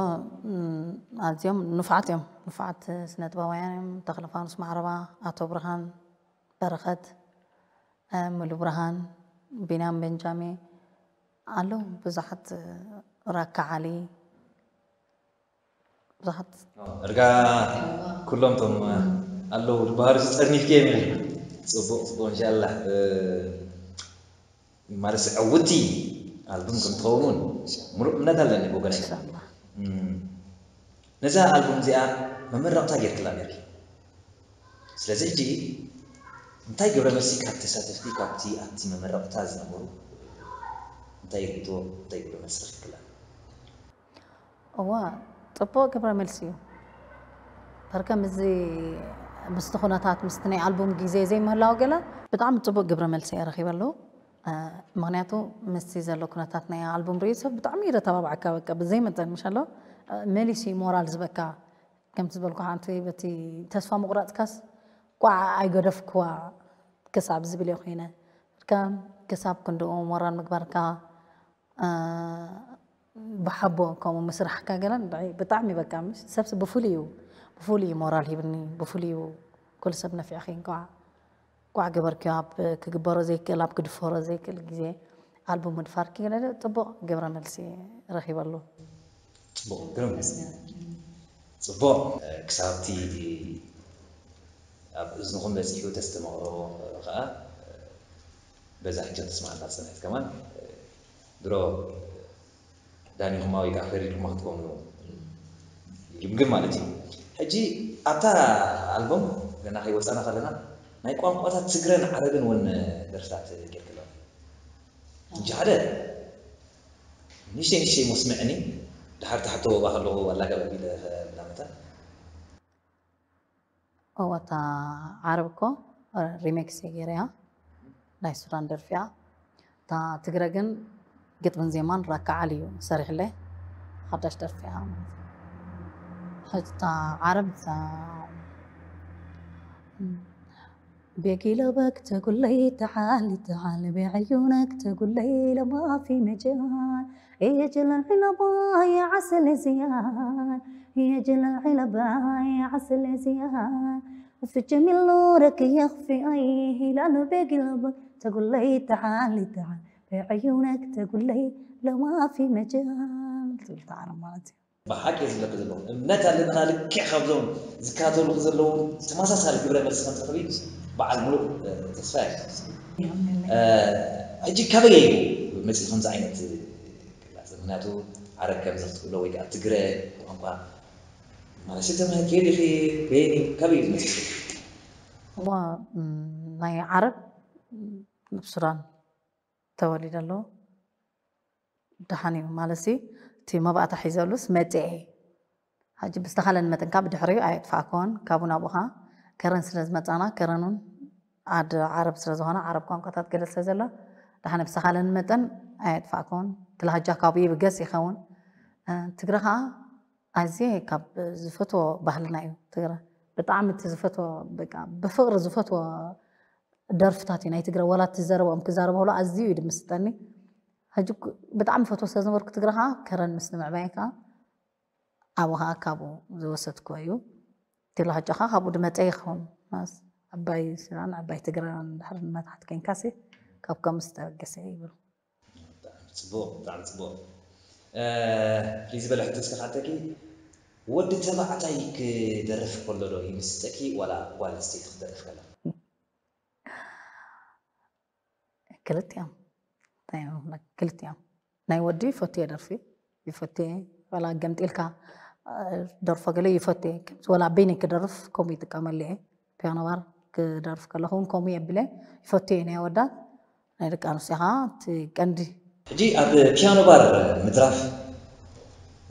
ኣዝዮም ንፉዓት እዮም። ንፉዓት ስነጥበባውያን እዮም። ተኽለፋኑስ ማዕረባ፣ ኣቶ ብርሃን በረኸት፣ ሙሉ ብርሃን፣ ቢንያም ቤንጃሜ ኣለዉ ብዙሓት ራካ ዓሊ ብዙሓት እርጋ ኩሎም ቶም ኣለዉ ዝበሃሉ ዝፀርኒፍክዮም ኢለ ፅቡቅ ፅቡቅ እንሻላ ማለት ዕውቲ ኣልቡም ከም ትኸውን እውን ሙሉእ እምነት ኣለኒ ብወገነይ ነዛ ኣልቡም እዚኣ መመረቕታ ጌርክላ ነርኪ ስለዚ ሕጂ እንታይ ግብረ መልሲ ካብ ተሳተፍቲ ካብቲ ኣብቲ መመረቕታ ዝነበሩ እንታይ ርኢቶ እንታይ ግብረ መልሲ ረኪብክላ እዋ ፅቡቕ ግብረ መልሲ እዩ በርከ ምዚ ምስቲ ኩነታት ምስቲ ናይ ኣልቡም ግዜ ዘይምህላው ገለ ብጣዕሚ ፅቡቕ ግብረ መልሲ እየ ረኺበ ኣለዉ ምክንያቱ ምስቲ ዘሎ ኩነታት ናይ ኣልቡም ርእዩ ሰብ ብጣዕሚ እዩ ተባባዕካ በቃ ብዘይ መጠን ምሽ ኣሎ መሊሱ ሞራል ዝበካ ከምቲ ዝበልኩ ሓንቲ በቲ ተስፋ ምቁራፅካስ ቋዕ ኣይገደፍክዋ ክሳብ ዝብል እየ ኮይነ እካ ክሳብ ክንድኡ ሞራል ምግባርካ ብሓቦ ከምኡ ምስራሕካ ገለ ብጣዕሚ በቃ ሰብሲ ብፍሉይ እዩ ብፍሉይ እዩ ሞራል ሂብኒ ብፍሉይ እዩ ኩሉ ሰብ ነፊዕኺ እንኳዕ ቋዕ ገበርክዮ ኣብ ክግበሮ ዘይክእል ኣብ ክድፈሮ ዘይክእል ግዜ ኣልቡም ምድፋርኪ ገለ ፅቡቕ ግብረ መልሲ ረኺበሉ ፅቡቕ ግርም ጽቡቕ። ክሳብቲ ኣብ እዝንኹም በጺሑ ተስተማቕሮ ኸኣ በዛ ሕጂ ተስማዕና ጸንሐት ከማን ድሮ ዳኒኹማ ወይ ከዓ ፈሪድኩማ ክትኮኑ ይግምግም ማለት እዩ። ሕጂ ኣብታ ኣልበም ገና ከይወፃና ከለና ናይ ቋንቋታት ትግረን ዓረብን እውን ደርፍታት ጌርክሎም እንጂ ሓደ ንሽተይ ንሽተይ መስምዕኒ ድሓር ታሕቶ ባኸለኹ ኣላገበ ቢለ ላመታ እወ እታ ዓረብ እኮ ሪሜክስ እየ ገይረያ ናይ ሱዳን ደርፊያ እታ ትግረ ግን ግጥምን ዜማን ራካ ዓሊ እዩ ሰሪሕለይ ሓዳሽ ደርፊያ ማለት እዩ። ሕጂ እታ ዓረብ እታ بيجي لبك تقول لي تعالي تعالي بعيونك تقول لي لما في مجال يجي العلبة يا عسل زيان يجي العلبة يا عسل زيان وفي جميل نورك يخفي أي هلال بقلبك تقول لي تعالي تعالي بعيونك تقول لي لو ما في مجال ትብል እታ ዓረብ ማለት እዩ። ብሓቂ እየ ዝብለኪ ዘለኹ እምነት ኣለና ልክዕ ካብዞም ዝከታተሉኺ ዘለዉ ተመሳሳሊ ግብረ መልሲ ከም ትረኽቢ በዓል ሙሉእ ተስፋ እየ። ሕጂ ካበይ እዩ መፂኡ ከምዚ ዓይነት ቅላፀ? ምክንያቱ ዓረብ ከምዚ ክትብሎ ወይ ከዓ ትግረ ቋንቋ ማለት ተማሂርኪ ዲኺ? በየኒ ካበይ እዩ ዝመፅእ? እዋ ናይ ዓረብ ኣብ ሱዳን ተወሊደ ኣለኹ። ደሓን እዩ ማለት ሲ እቲ መባእታ ሒዘሉስ መፅአ ሕጂ ብዝተኻለን መጠን ካብ ድሕሪኡ ኣየጥፋእኮን ካብኡ ናብኡ ከዓ ከረን ስለ ዝመፃና ከረን እውን ዓዲ ዓረብ ስለ ዝኾነ ዓረብ ቋንቋታት ገለ ስለ ዘሎ ደሓን ብዝተኻለን መጠን ኣየጥፋእኮን እቲ ላህጃ ካብኡ ይብገስ ይኸውን ትግረ ከዓ ኣዝየ ካብ ዝፈትዎ ባህልና እዩ ትግረ ብጣዕሚ እቲ ዝፈትዎ በቃ ብፍቕሪ ዝፈትዎ ደርፍታት እዩ ናይ ትግረ ወላ እቲ ዘረብኦም ክዛረብ ከሎ ኣዝዩ እዩ ድምስጠኒ ሕጂ ብጣዕሚ ፈትዎ ስለ ዝነበርኩ ትግረ ከዓ ከረን ምስ ንምዕባየ ከዓ ኣብኡ ከዓ ካብኡ ዝወሰድክዎ እዩ ቴሎ ሃጫ ከዓ ካብኡ ድመፀ ይኸውን ዓባይ ስራን ዓባይ ትግረን ድሕሪ መታሕት ኮይንካሲ ካብ ከምኡ ዝተበገሰ ይብል ጽቡቕ ብጣዕሚ ጽቡቕ ፍልይ ዝበለ ሕቶ እስከ ካተኪ ወዲ ተባዕታይ ክደርፍ ከሎ ዶ ይምስጠኪ ዋላ ጓል ኣንስተይቲ ክትደርፍ ከላ ክልቲኦም እንታይ እዮም ክልብላ? ክልቲኦም ናይ ወዲ ይፈትዮ ደርፊ ይፈትዮ ዋላ ገምጢልካ ደርፎ ገለ ይፈትዮ ከምዚ ዋላ ኣበይነይ ክደርፍ ከምኡ ይጥቀመሉ እየ ፒያኖ ባር ክደርፍ ከለኹ እውን ከምኡ የብለ ይፈትዮ ናይ ኣወዳት ናይ ደቂ ኣንስትዮ ከዓ እቲ ቀንዲ ሕጂ ኣብ ፒያኖ ባር ምድራፍ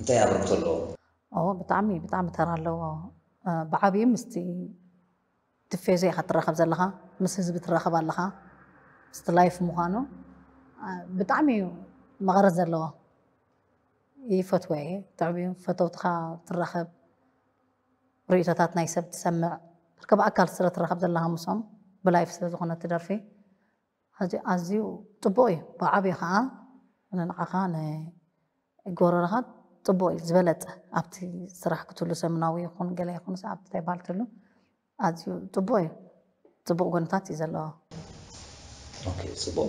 እንታይ ኣበርክቶ ኣለዎ? ኦ ብጣዕሚ ብጣዕሚ ተራ ኣለዎ ብዓብዩ ምስቲ ቲፌዞ ኢኻ ትራኸብ ዘለኻ ምስ ህዝቢ ትራኸብ ኣለኻ ምስቲ ላይፍ ምዃኑ ብጣዕሚ እዩ መቐረት ዘለዎ ይፈትዎ እየ ብጣዕሚ ፈተውትኻ ትራኸብ ርእቶታት ናይ ሰብ ትሰምዕ ብኣካል ስለ ትራኸብ ዘለኻ ምስኦም ብላይፍ ስለ ዝኾነ ትደርፊ ሕጂ ኣዝዩ ጽቡቕ እዩ ብዓብዩ ኸዓ ንንዓኻ ንጎረርኻ ጽቡቕ እዩ ዝበለጸ ኣብቲ ስራሕ ክትሉ ሰምናዊ ይኹን ገለ ይኹን ኣብቲ እንታይ በሃል ትሉ ኣዝዩ ጽቡቕ እዩ ጽቡቕ ጎንታት እዩ ዘለዎ ጽቡቕ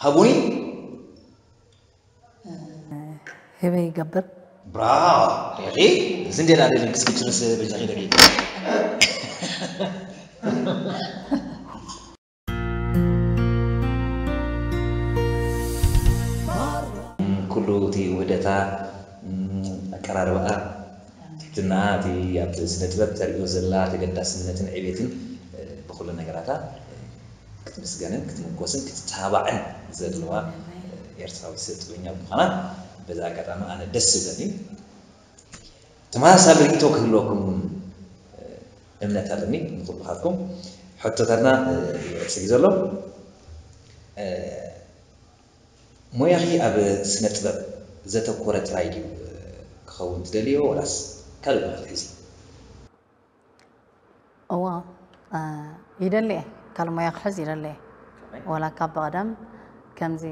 ሃቡኒ ህበይ ይገብር ብራ ሪኺ እዚ እንዴና ደሊ ክስክችርስ በጃኺ ደቂ ኩሉ እቲ ውህደታ ኣቀራርባኣ ትሕትና እቲ ኣብ ስነ ጥበብ ተሪኦ ዘላ ተገዳስነትን ዕቤትን ብኩሉ ነገራታ ክትምስገንን ክትምጎስን ክትተባባዕን ዘድለዋ ኤርትራዊ ሰብ ጥበኛ ብምዃና በዚ ኣጋጣሚ ኣነ ደስ ዝብለኒ ተመሳሳሊ ርእይቶ ክህልወኩም እውን እምነት ኣለኒ ንኩልኻትኩም ሕቶታትና ይወፅእ ዘሎ ሞያኺ ኣብ ስነ ጥበብ ዘተኮረ ጥራይ ድዩ ክኸውን ትደልዮ ወላስ ካልእ ሞያ ክትሕዚ እዋ ይደሊ እየ ካልእ ሞያ ክሕዝ ይደሊ እየ ወላ ካብ ብቐደም ከምዚ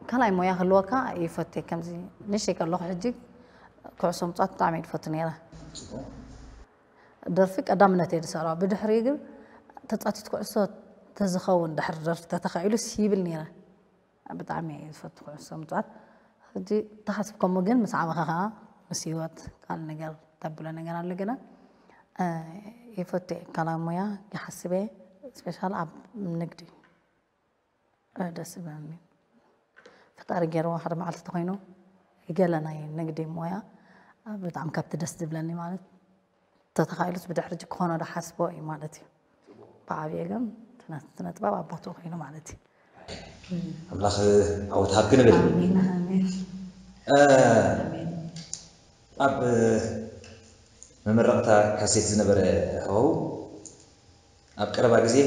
ካልኣይ ሞያ ክህልወካ ይፈቴ ከምዚ ንእሽተይ ከለኹ ሕጂ ኩዕሶ ምፃወት ብጣዕሚ እየ ዝፈቱ ነይረ ደርፊ ቀዳምነት እየ ዝሰርዖ ብድሕሪ ግን ተፃቲት ኩዕሶ ተዝኸውን ድሕሪ ደርፊ ተተኻኢሉስ ይብል ነይረ ብጣዕሚ እየ ዝፈቱ ኩዕሶ ምፃወት ሕጂ ተሓስብ ከምኡ ግን ምስ ዓበኻ ከዓ ምስ ህይወት ካልእ ነገር ተብሎ ነገር ኣሎ ግና ይፈቱ እየ ካልኣዊ ሞያ ይሓስብ እየ ስፔሻል ኣብ ንግዲ ደስ ዝብለኒ ፈጣሪ ገይርዎ ሓደ መዓልቲ ተኮይኑ ገለ ናይ ንግዲ ሞያ ብጣዕሚ ካብቲ ደስ ዝብለኒ ማለት ተተኻኢሉስ ብድሕሪ ሕጂ ክኾኖ ዶ ሓስቦ እዩ ማለት እዩ ብዓብየ ግን ስነጥበብ ኣባቱ ኮይኑ ማለት እዩ ኣምላኽ ዓወት ሃብኪ ንብል ኣብ መመረቕታ ካሴት ዝነበረ ሃዋው ኣብ ቀረባ ግዜ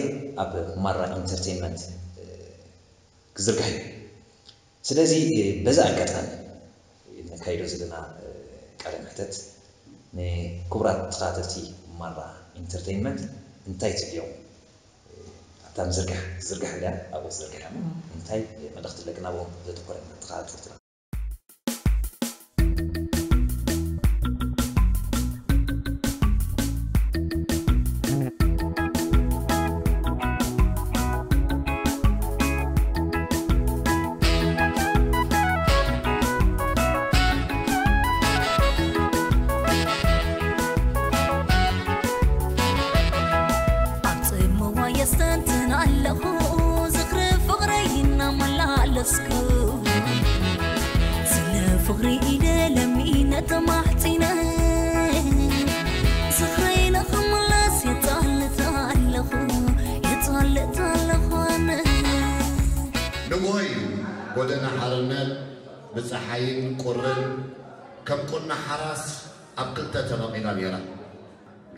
ኣብ ማራ ኢንተርቴይንመንት ክዝርጋሕ እዩ። ስለዚ በዚ ኣጋጣሚ ነካይዶ ዘለና ቃለ መሕተት ንክቡራት ተኸታተልቲ ማራ ኢንተርቴይንመንት እንታይ ትብልዮም? ኣብታ ምዝርጋሕ ትዝርጋሕ ኣለያ ኣብኡ ትዝርጋሕ እሞ እንታይ መልእኽቲ ኣለኪ ናብኦም ዘተኮረ ተኸታተልትና? ኣብ ጽምዋ የስተንትን ኣለኹ ዝኽሪ ፍቕረይ እናመላለስኩ ስለ ፍቕሪ ኢደ ለሚነ ተማሕጺነ ዝኽረይ ንኽምለስ የጻልት ኣለኹ የጻልት ኣለኹ ኣነ ንግሆ እዩ ጎደና ሓርነት ብፀሓይን ቁርን ከም ቁና ሓራስ ኣብ ክልተ ተመቒላ ነይራ።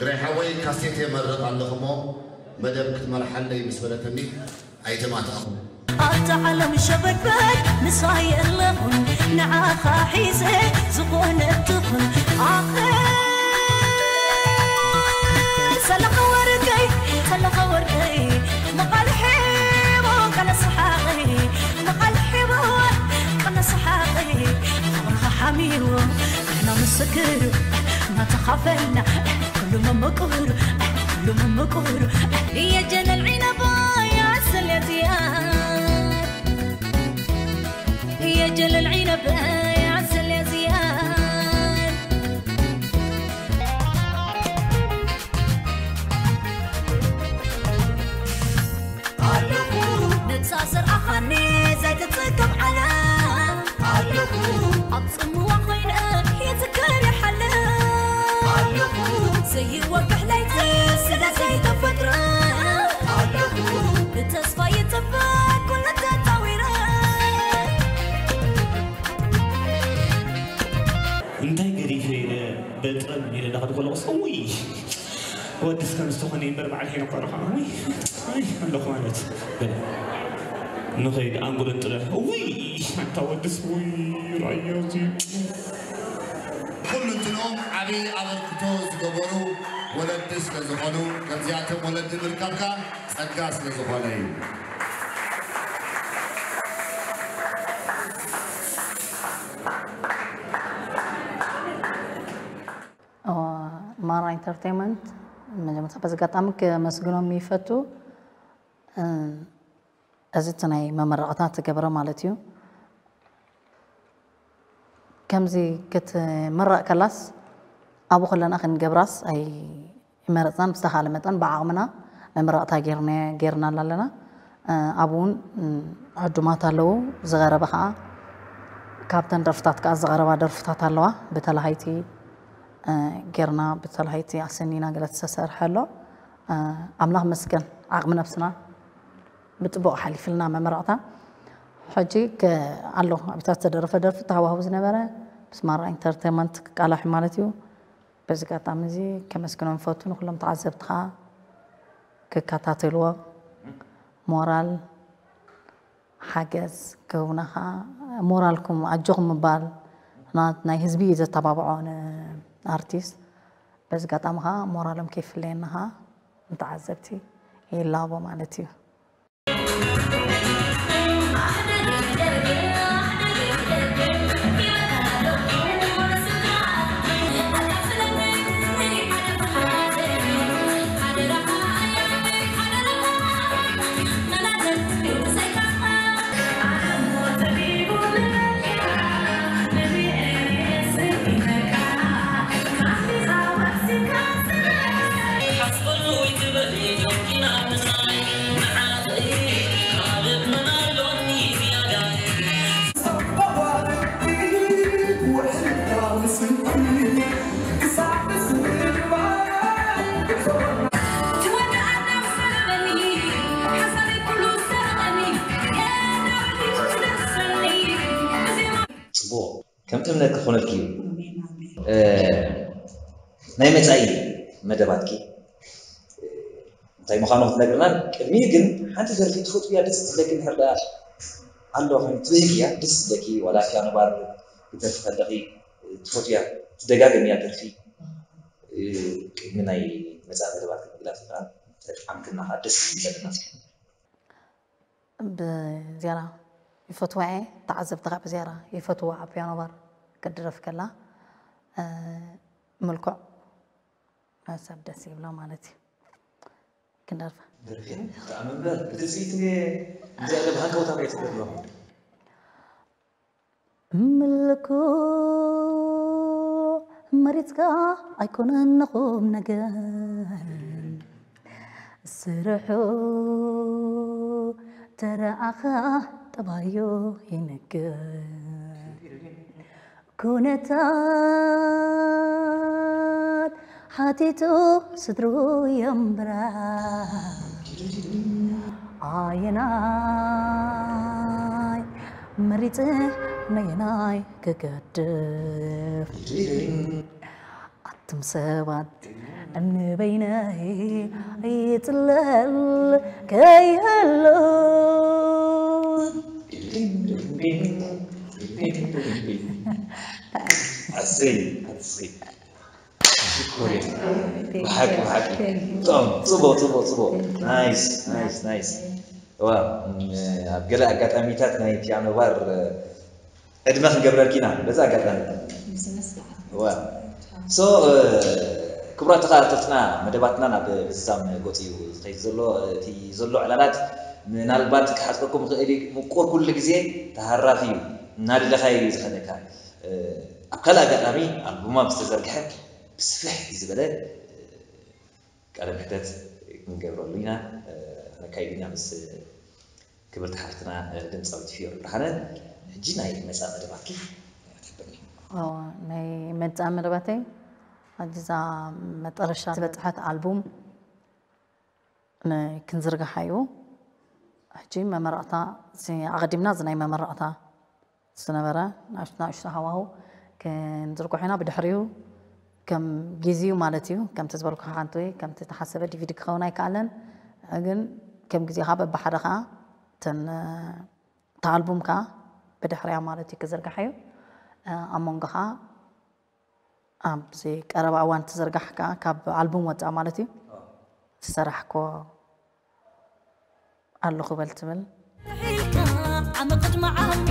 ግረይ ሓወይ ካሴት የመርቕ ኣለኹ እሞ መደብ ክትመርሓለይ ምስ በለትኒ ኣይተማታእኹን። ኣብታ ዓለም ሸበድበድ ምሳይ ኣለኹን ንዓኻ ሒዘ ዝኾነ ትኹን ኣኸ ሰለኻ ወርቀይ ሰለኻ ወርቀይ መቓልሒ ሒቡ ቀለ ሰሓቒ መቓልሒ ሒቡ ቀለ ሰሓቒ ፍቕርኻ ሓሚዎ ንሕና ምስክር እናተኻፈልና ኩሉ መመቁር ኩሉ መመቁር የጀለል ዒነባ ያስል የዝያድ የጀለል ዒነባ ያስል የዝያድ ነብሳ ዘርኣኻኒ ዘይትጽገብ ዓለም ኣለኹ ኣብ ጽምዋ ኮይነ ይዝከር ይሓልፍ ኣለኹ ዘይወግሕ ለይቲ ስለ ዘይተፈጥረ ኣለኹ ብተስፋ ይጽበ ኩሉ ተጣዊረ እንታይ ገዲፈ ኢለ በጥረን ኢለ ዳኸድኩ ኣለኹስ እውይ ወድስ ከም ዝተኾነ እምበር በዓል ሄኖክ ቆልዓ ከማዊ ኣይ ኣለኹ ማለት በለ ንኸይድ ኣንጎለን ጥለ ውይ ኣንታ ወድስ ውይ ራዮ እዚ ኩልንትኖም ዓብዪ ኣበርክቶ ዝገበሩ ወለዲ ስለ ዝኾኑ ከምዚኣቶም ወለዲ ምርካብካ ጸጋ ስለ ዝኾነ እዩ። ማራ ኢንተርቴንመንት መጀመርታ በዚ ኣጋጣሚ ከመስግኖም ይፈቱ እዚ እቲ ናይ መመረቕታ ትገብረ ማለት እዩ ከምዚ ክትምረቕ ከላስ ኣብኡ ከለና ክንገብራስ ኣይመረፅናን ብዝተኻለ መጠን ብዓቕምና መመረቕታ ጌርና ኣለና ኣብኡ እውን ዕዱማት ኣለዉ ዝቐረበ ከዓ ካብተን ደርፍታት ከዓ ዝቐረባ ደርፍታት ኣለዋ ብተላሃይቲ ጌርና ብተላሃይቲ ኣሰኒና ገለ ዝተሰርሐ ኣሎ ኣምላኽ መስገን ዓቕሚ ነብስና ብፅቡቕ ሓሊፍልና መመረቕታ ሕጂ ኣሎ ኣብታ ዝተደረፈ ደርፊ ተሃዋህቡ ዝነበረ ምስ ማራ ኢንተርቴንመንት ክቃላሕ ማለት እዩ በዚ ኣጋጣሚ እዚ ከመስግኖም ፈቱ ንኩሎም ተዓዘብቲ ከዓ ክከታተልዎ ሞራል ሓገዝ ክህቡና ከዓ ሞራልኩም ኣጆኹም ምባል ናይ ህዝቢ እዩ ዘተባብዖ ንኣርቲስት በዚ ኣጋጣሚ ከዓ ሞራሎም ከይፍለየና ከዓ ንተዓዘብቲ ይላቦ ማለት እዩ። ጽቡቕ። ከም እምነት ክኾነልኪ እዩ። ናይ መጻኢ መደባትኪ እንታይ ምዃኑ ክትነግርና፣ ቅድሚኡ ግን ሓንቲ ደርፊ ትፈትውያ፣ ደስ ዝብለኪ እንድሕር ደኣ ኣሎ ኮይኑ ትብህግያ፣ ደስ ዝብለኪ ዋላ ፒያኖ ባር ክትደርፊ ከለኺ ትፈትውያ፣ ትደጋግምያ ደርፊ፣ ቅድሚ ናይ መጻኢ መደባትኪ ምግላጽ ከኣ ተጥዓምክና ከኣ ደስ ዝብለና። ብዝያዳ ይፈትዋ እየ። ተዓዘብቲ ከዓ ብዝያዳ ይፈትዋ ኣብ ፒያኖ ባር ክትድረፍ ከላ። ምልኩዕ ሰብ ደስ ይብሎ ማለት እዩ። ክንደርፋ ብጣዕሚ እምበር ብትፅቢት እየ። እንታይ ያለ ብሃንቀውታ እየ ትገብሮ። ምልኩዕ መሪፅካ ኣይኮነን ንኹም ነገር ስርሑ ተረኣኻ ጠባዩ ይነግር ኩነታት ሓቲቱ ስድርኡ የንብራ ኣየናይ መሪጽ ነየናይ ክገድፍ ኣቱም ሰባት ንበይነይ ይጽለል ከይህሉ ኣሰይ ኣሰይ ብሓቂ ብሓቂ ብጣዕሚ ፅቡቅ ፅቡቅ ፅቡቅ ናይስ ናይስ ናይስ ዋ ኣብ ገለ ኣጋጣሚታት ናይ ፒያኖ ባር ዕድመ ክንገብረልኪ ኢና በዛ ኣጋጣሚ ዋ ሶ ክቡራት ተኸታተልትና መደባትና ናብ ፍጻም ገፁ እዩ ዝኸይድ ዘሎ እቲ ዘሎ ዕላላት ምናልባት ክሓፅረኩም ይኽእል እዩ ምቁር ኩሉ ግዜ ተሃራፊ እዩ እናደለኻዮ እዩ ዝኸደካ ኣብ ካልእ ኣጋጣሚ ኣልቡማ ምስ ተዘርግሐ ብስፍሕ ዝበለ ቃለ ምሕተት ክንገብረሉ ኢና ነካይድ ኢና ምስ ክብርቲ ሓፍትና ድምፃዊት ፍዮሪ ብርሃነ ሕጂ ናይ መፃ መደባትኪ ትሕብርኒ ናይ መፃ መደባተይ ኣጅዛ መጠረሻ ዝበፅሐት ኣልቡም ክንዝርግሓ እዩ ሕጂ መመረቕታ ኣቐዲምና እዚ ናይ መመረቕታ ዝነበረ ናእሽቱ ሃዋሁ ክንዝርግሖ ኢና ብድሕሪኡ ከም ግዜኡ ማለት እዩ ከምቲ ዝበልኩ ሓንቲ ወይ ከምቲ ተሓሰበ ዲቪዲ ክኸውን ኣይከኣለን ግን ከም ግዜኻ በብሓደ ከዓ ተን ተኣልቡም ከዓ ብድሕሪያ ማለት እዩ ክዝርግሓ እዩ ኣብ መንጎ ከዓ ኣብዚ ቀረባ እዋን ትዝርጋሕ ከዓ ካብ ኣልቡም ወፃእ ማለት እዩ ዝሰራሕኮ ኣለኹ በል ትብል ዓሚ ቅድሚ ዓሚ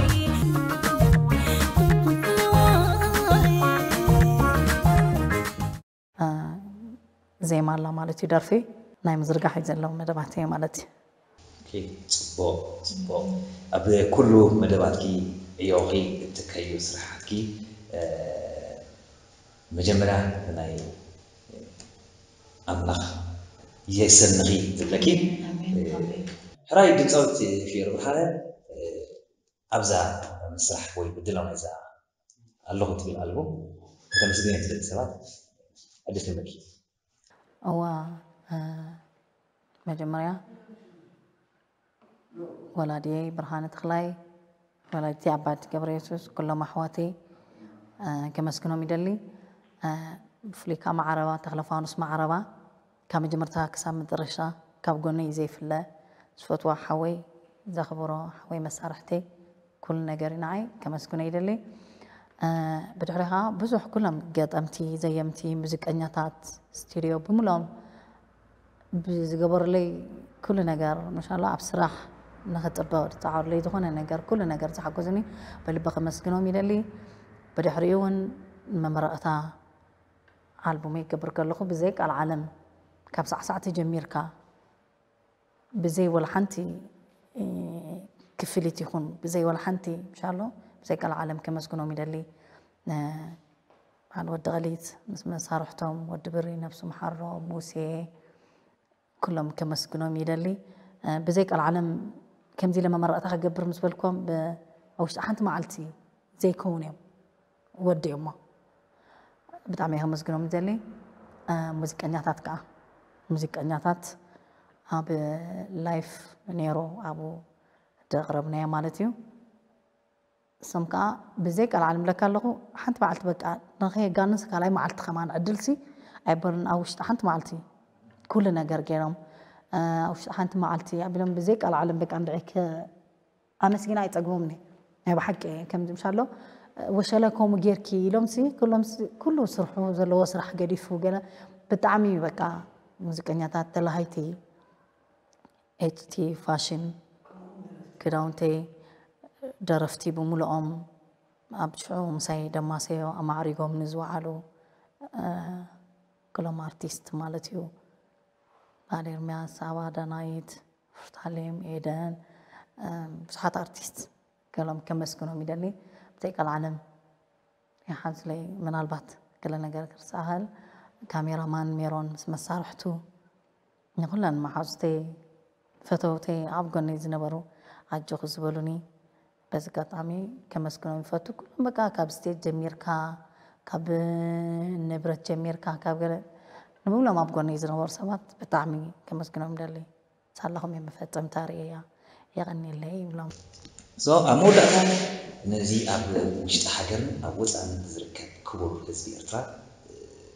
ዜማ ኣላ ማለት እዩ ደርፊ ናይ ምዝርጋሕ እዩ ዘለዉ መደባት እየ ማለት እዩ ጽቡቅ ጽቡቅ ኣብ ኩሉ መደባትኪ ዕዮኺ እትከዩ ስራሓትኪ መጀመርያ ናይ ኣምላኽ የሰንኺ ዝብለኪ ሕራይ ድምፃዊት ፊዮሪ ብርሃነ ኣብዛ ምስራሕ ወይ ብድላው ናይዛ ኣለኹ ትብል ኣልቡም ከተመስግን ትደሊ ሰባት ዕድል ትህበኪ እዋ መጀመርያ ወላድየይ ብርሃነ ተኽላይ ወላዲተይ ኣባቲ ገብረየሱስ ኩሎም ኣሕዋተይ ከመስግኖም ይደሊ ብፍሉይ ከዓ ማዓረባ ተኽለፋኑስ ማዓረባ ካብ መጀመርታ ክሳብ መጠረሻ ካብ ጎነይ ዘይፍለ ዝፈትዋ ሓወይ ዘኽብሮ ሓወይ መሳርሕተይ ኩሉ ነገር ንዓይ ከመስግኖ ይደሊ ብድሕሪ ከዓ ብዙሕ ኩሎም ገጠምቲ ዘየምቲ ሙዚቀኛታት ስቱድዮ ብምሎም ብዝገበሩለይ ኩሉ ነገር መሻሎ ኣብ ስራሕ ንክፅበቅ ዝፃዓሩለይ ዝኾነ ነገር ኩሉ ነገር ዝሓገዙኒ ብልቢ ከመስግኖም ይደሊ ብድሕሪኡ እውን መመረቅታ ኣልቡመይ ክገብር ከለኹ ብዘይ ቃል ዓለም ካብ ሳዕሳዕቲ ጀሚርካ ብዘይ ወላ ሓንቲ ክፍሊት ይኹን ብዘይ ወላ ሓንቲ ምሻሎ ብዘይ ቃል ዓለም ከመስግኖም ይደሊ በዓል ወዲ ቀሊት ምስ መሳርሕቶም ወዲ ብሪ ነብሱ መሓሮ ሙሴ ኩሎም ከመስግኖም ይደሊ ብዘይ ቃል ዓለም ከምዚ ኢለ መመረቕታ ክገብር ምስ በልኮም ኣብ ውሽጢ ሓንቲ መዓልቲ ዘይከውን እዮም ወዲኦሞ ብጣዕሚ እየ ከመስግኖም ይደሊ ሙዚቀኛታት ከዓ ሙዚቀኛታት ኣብ ላይፍ ነይሩ ኣብኡ ዘቕረብናዮ ማለት እዩ እሶም ከዓ ብዘይ ቃል ዓለም ለካ ኣለኹ። ሓንቲ መዓልቲ በቃ ንኸየጋንስ ካልኣይ መዓልቲ ከማን ዕድልሲ ኣይበሉን። ኣብ ውሽጢ ሓንቲ መዓልቲ ኩሉ ነገር ገይሮም፣ እ፣ ኣብ ውሽጢ ሓንቲ መዓልቲ ኣቢሎም ብዘይ ቃል ዓለም በቃ እንድዒ ከ-፣ ኣመስጊና ኣይጸግቦምኒ። ናይ ብሓቂ ከምዚ ምሻሎ ወሸለ ከምኡ ጌርኪ ኢሎምሲ ኩሎምሲ ኩሉ ስርሑ ዘለዎ ስራሕ ገዲፉ ገለ ብጣዕሚ በቃ ሙዚቀኛታት ተላሃይቲ እቲ ፋሽን ክዳውንተይ ደረፍቲ ብምልኦም ኣብ ሽዑ ምሳይ ደማሰዮ ኣማዕሪጎም ንዝወዓሉ፣ እ፣ ክሎም ኣርቲስት ማለት እዩ። በዓል ኤርምያስ፣ ኣባ ዳናይት፣ ፍርታሌም፣ ኤደን፣ እ፣ ብዙሓት ኣርቲስት ገሎም ከመስግኖም ይደሊ። ብዘይ ቃል ዓለም ይሓዝለይ። ምናልባት ገለ ነገር ክርሳኸል፣ ካሜራማን ሜሮን ምስ መሳርሕቱ፣ ንኹለን መሓዙተይ፣ ፈተውተይ፣ ኣብ ጎነይ ዝነበሩ ኣጆኺ ዝበሉኒ፣ በዚ ኣጋጣሚ ከመስግኖም ይፈቱ። ኩሎም በቃ ካብ ስቴጅ ጀሚርካ፣ ካብ ንብረት ጀሚርካ፣ ካብ ገለ ንምብሎም ኣብ ጎነይ ዝነበሩ ሰባት ብጣዕሚ ከመስግኖም ደሊ። ሳላኹም እዮም መፈጸምታ ርእያ። የቐንየለይ ይብሎም። So፣ ኣብ መወዳእታ ነዚ ኣብ ውሽጢ ሃገርን ኣብ ወፃእን ዝርከብ ክቡር ህዝቢ ኤርትራ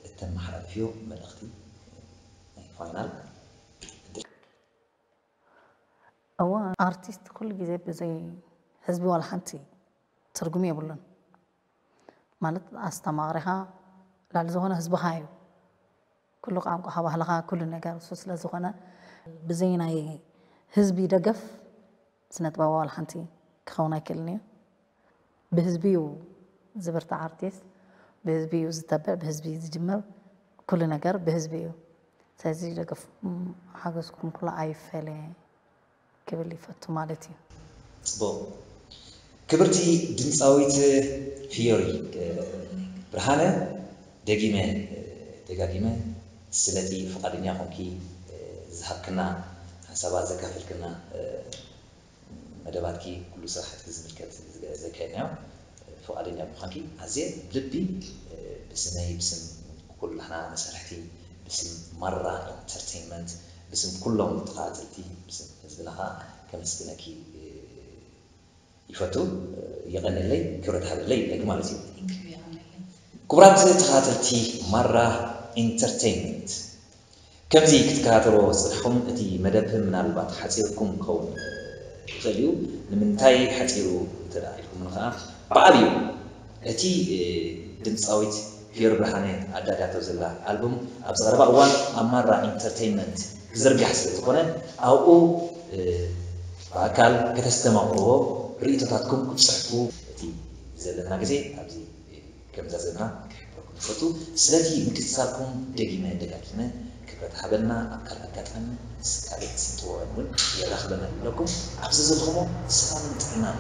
እተመሓላልፍዮ መልእኽቲ ናይ ፋይናል። እወ፣ ኣርቲስት ኩሉ ግዜ ብዘይ ህዝቢ ዋላ ሓንቲ ትርጉም የብሉን። ማለት ኣስተማቕሪኻ ልዕሊ ዝኾነ ህዝብኻ እዩ። ኩሉ ቋንቋኻ፣ ባህልኻ፣ ኩሉ ነገር እሱ ስለ ዝኾነ ብዘይ ናይ ህዝቢ ደገፍ ስነ ጥበባዊ ዋላ ሓንቲ ክኸውን ኣይክእልን እዩ። ብህዝቢ እዩ ዝብርታዕ ኣርቲስት፣ ብህዝቢ እዩ ዝተብዕ፣ ብህዝቢ እዩ ዝጅምር፣ ኩሉ ነገር ብህዝቢ እዩ። ስለዚ ደገፍ፣ ሓገዝኩም ኩሉ ኣይፈለየ ክብል ይፈቱ ማለት እዩ። ፅቡቕ። ክብርቲ ድምፃዊት ፊዮሪ፣ እ፣ ብርሃነ፣ ደጊመ፣ እ፣ ደጋጊመ ስለቲ ፍቓደኛ ኮንኪ፣ እ፣ ዝሃብክና ሓሳባት ዘካፈልክና፣ እ፣ መደባትኪ ኩሉ ስራሕትኪ ዝምልከት ዘካየድናዮ ፍቓደኛ ምዃንኪ ኣዝየ ብልቢ፣ እ፣ ብስመይ ብስም ኩላህና መሳርሕቲ ብስም ማራ ኢንተርቴይንመንት ብስም ኩሎም ተኸታተልቲ ብስም ህዝብና ከዓ ከመስግነኪ፣ እ፣ ይፈቱ። የቐንየለይ፣ ክብረት ሃበለይ ይብለኪ ማለት እዩ። ክቡራት ተኸታተልቲ ማራ ኢንተርቴይንመንት፣ ከምዚ ክትከታተልዎ ዝጸናሕኩም እቲ መደብ ምናልባት ሓጺርኩም ክኸውን ይኽእል እዩ። ንምንታይ ሓጺሩ እንተ ደኣ ኢልኩምኒ ከኣ ብዓብዩ እቲ ድምጻዊት ፊዮሪ ብርሃነ ኣዳልያቶ ዘላ ኣልቡም ኣብዚ ቀረባ እዋን ኣብ ማራ ኢንተርተይንመንት ክዝርጋሕ ስለ ዝኾነ ኣብኡ ብኣካል ከተስተማቕርዎ ርእይቶታትኩም ክትጽሕፉ እቲ ዘለና ግዜ ኣብዚ ከም ዘዘና ክሕብረኩም ይፈቱ። ስለዚ ምክትታልኩም ደጊመ ደጋጊመ ክብረት ሃበልና። ኣብ ካልእ ኣጋጣሚ ምስ ካልእ ስንጥወን እውን የራኽበና ይብለኩም። ኣብዚ ዘለኹሞ ሰላምን ጥዕናን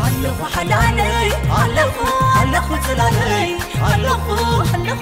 ኣለኹ ሓላለይ ኣለኹ ኣለኹ ጽላለይ ኣለኹ ኣለኹ